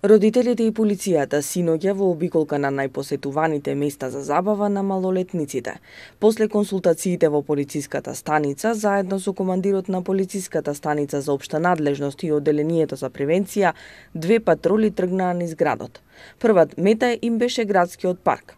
Родителите и полицијата синоќа во обиколка на најпосетуваните места за забава на малолетниците. После консултациите во полициската станица, заедно со командирот на полициската станица за општа надлежност и одделението за превенција, две патроли тргнаа низ градот. Прват мета им беше градскиот парк.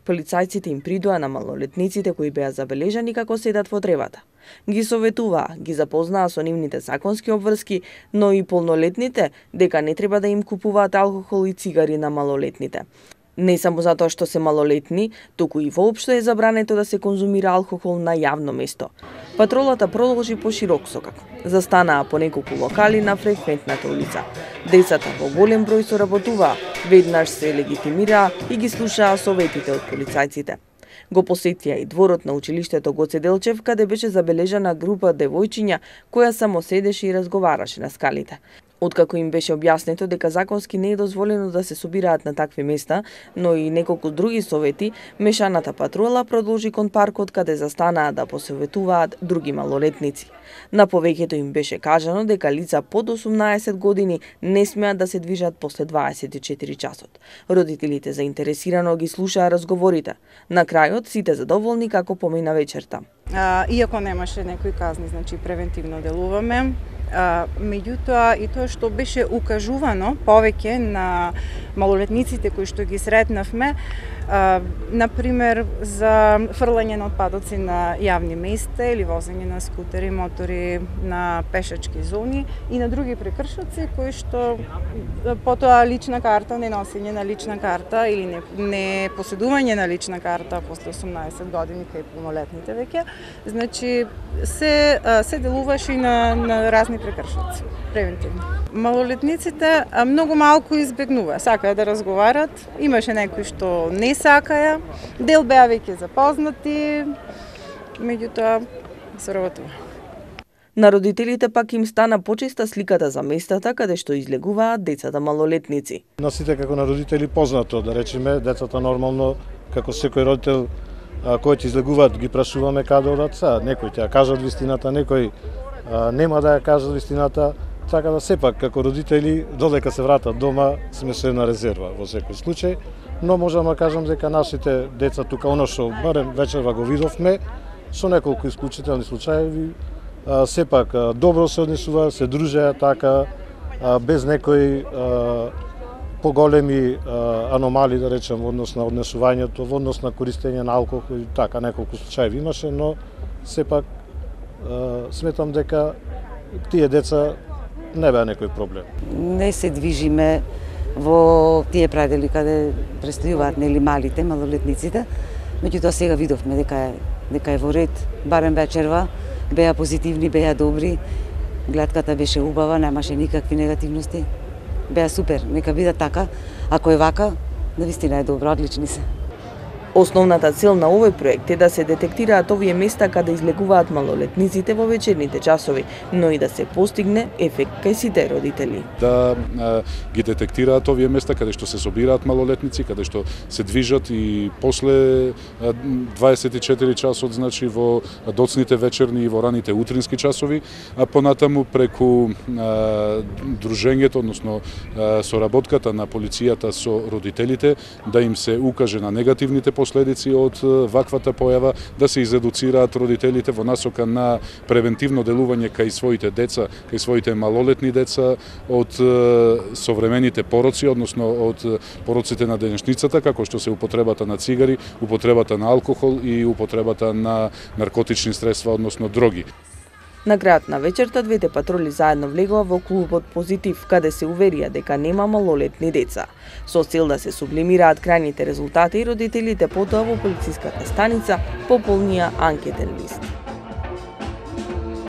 Полицајците им придоа на малолетниците кои беа забележани како седат во древата. Ги советуваа, ги запознаа со нивните законски обврски, но и полнолетните дека не треба да им купуваат алкохол и цигари на малолетните. Не само затоа што се малолетни, туку и воопшто е забрането да се конзумира алкохол на јавно место. Патролата продолжи по широк сокак. Застанаа по неколку локали на фреквентната улица. Децата во голем број соработуваа, веднаш се легитимираа и ги слушаа советите од полицајците. Го посетија и дворот на училиштето Гоце Делчев, каде беше забележана група девојчиња која само седеше и разговараше на скалите. Откако им беше објаснето дека законски не е дозволено да се собираат на такви места, но и неколку други совети, мешаната патрула продолжи кон паркот каде застанаа да посоветуваат други малолетници. На повеќето им беше кажано дека лица под 18 години не смеат да се движат после 24 часот. Родителите заинтересирано ги слушаа разговорите. На крајот сите задоволни како помина вечерта. Иако немаше некои казни, значи превентивно делуваме. Меѓутоа и тоа што беше укажувано повеќе на малолетниците кои што ги сретнавме, например за фрлање на отпадоци на јавни места или возење на скутери, мотори на пешачки зони и на други прекршоци кои што потоа лична карта, не носење на лична карта или не поседување на лична карта после 18 години кај полнолетните веќе, значи се делуваше и на разни прекршоци превентивно. Малолетниците многу малку избегнуваа, сакаа да разговарат, имаше некои што не сакаја, дел беа веќе запознати, меѓутоа се работува. На родителите пак им стана почеста сликата за местата каде што излегуваат децата малолетници. На сите како на родители познато, да речеме, децата нормално, како секој родител кој ќе излегуваат, ги прашуваме каде одат са. Некои ќе ја кажат вистината, некои нема да ја кажат вистината. Така да сепак, како родители, додека се вратат дома, сме се на резерва во секој случај, но можам да кажам дека нашите деца тука, оно што барем вечерва го видовме, со неколку исклучителни случаи, сепак добро се однесува, се дружеа така, без некои поголеми аномали, да речем, во однос на однесувањето, во однос на користење на алкохол, така неколку случаи имаше, но сепак сметам дека тие деца не беа некој проблем. Не се движиме во тие предели каде престојуваат нели малите, малолетниците, меѓутоа сега видовме дека е во ред, барем вечерва, беа позитивни, беа добри, гледката беше убава, немаше никакви негативности, беа супер, нека бидат така, ако е вака, навистина е добро, одлични се. Основната цел на овој проект е да се детектираат овие места каде излегуваат малолетниците во вечерните часови, но и да се постигне ефект кај сите родители. Да ги детектираат овие места каде што се собираат малолетници, каде што се движат и после 24 часот, значи во доцните вечерни и во раните утрински часови, а понатаму преку дружењето, односно соработката на полицијата со родителите, да им се укаже на негативните последици од ваквата појава, да се изедуцираат родителите во насока на превентивно делување кај своите деца, кај своите малолетни деца од современите пороци, односно од пороците на денешницата, како што се употребата на цигари, употребата на алкохол и употребата на наркотични средства, односно дроги. На крајот на вечерта двете патроли заедно влегоа во клубот Позитив, каде се уверија дека нема малолетни деца. Со цел да се сублимираат крајните резултати, родителите потоа во полициската станица пополнија анкетен лист.